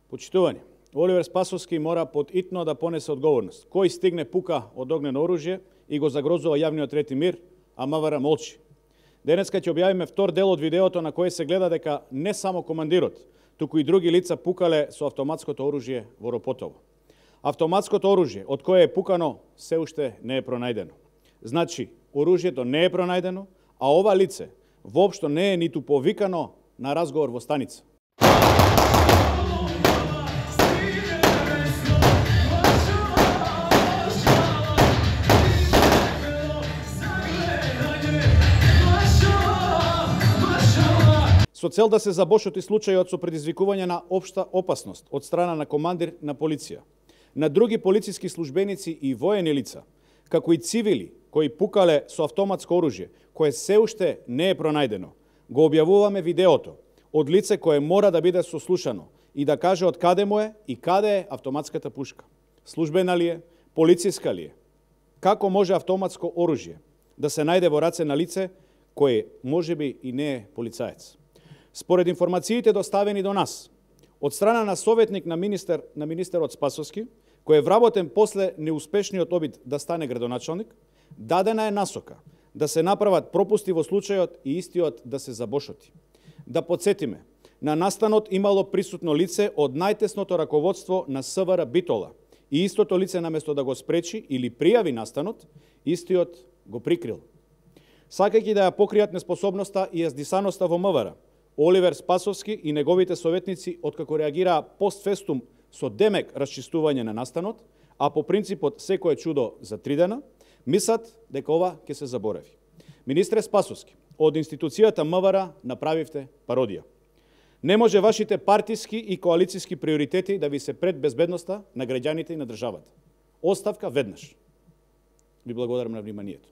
Почитување, Оливер Спасовски мора подитно да понесе одговорност. Кој стигне пука од огнено оружје и го загрозува јавниот ред и мир, а МВР молчи. Денеска ќе објавиме втор дел од видеото на кој се гледа дека не само командирот, туку и други лица пукале со автоматското оружје во Ропотово. Автоматското оружје од кое е пукано се уште не е пронајдено. Значи, оружјето не е пронајдено, а ова лице воопшто не е ниту повикано на разговор во станица. Со цел да се забошоти случајот со предизвикување на општа опасност од страна на командир на полиција, на други полициски службеници и воени лица, како и цивили кои пукале со автоматско оружје, кое се уште не е пронајдено, го објавуваме видеото од лице кое мора да биде сослушано и да каже од каде му е и каде е автоматската пушка. Службена ли е, полициска ли е? Како може автоматско оружје да се најде во раце на лице кое можеби и не е полицаец? Според информациите доставени до нас, од страна на советник на министерот Спасовски, кој е вработен после неуспешниот обид да стане градоначалник, дадена е насока да се направат пропусти во случајот и истиот да се забошоти. Да подсетиме, на настанот имало присутно лице од најтесното раководство на СВР Битола и истото лице наместо да го спречи или пријави настанот, истиот го прикрил. Сакајќи да ја покријат неспособноста и јаздисаноста во МВР, Оливер Спасовски и неговите советници откако реагираа постфестум со демек расчистување на настанот, а по принципот секое чудо за 3 дена, мислат дека ова ќе се заборави. Министре Спасовски, од институцијата МВР направивте пародија. Не може вашите партиски и коалициски приоритети да ви се пред безбедноста на граѓаните и на државата. Оставка веднаш. Ви благодарам на вниманието.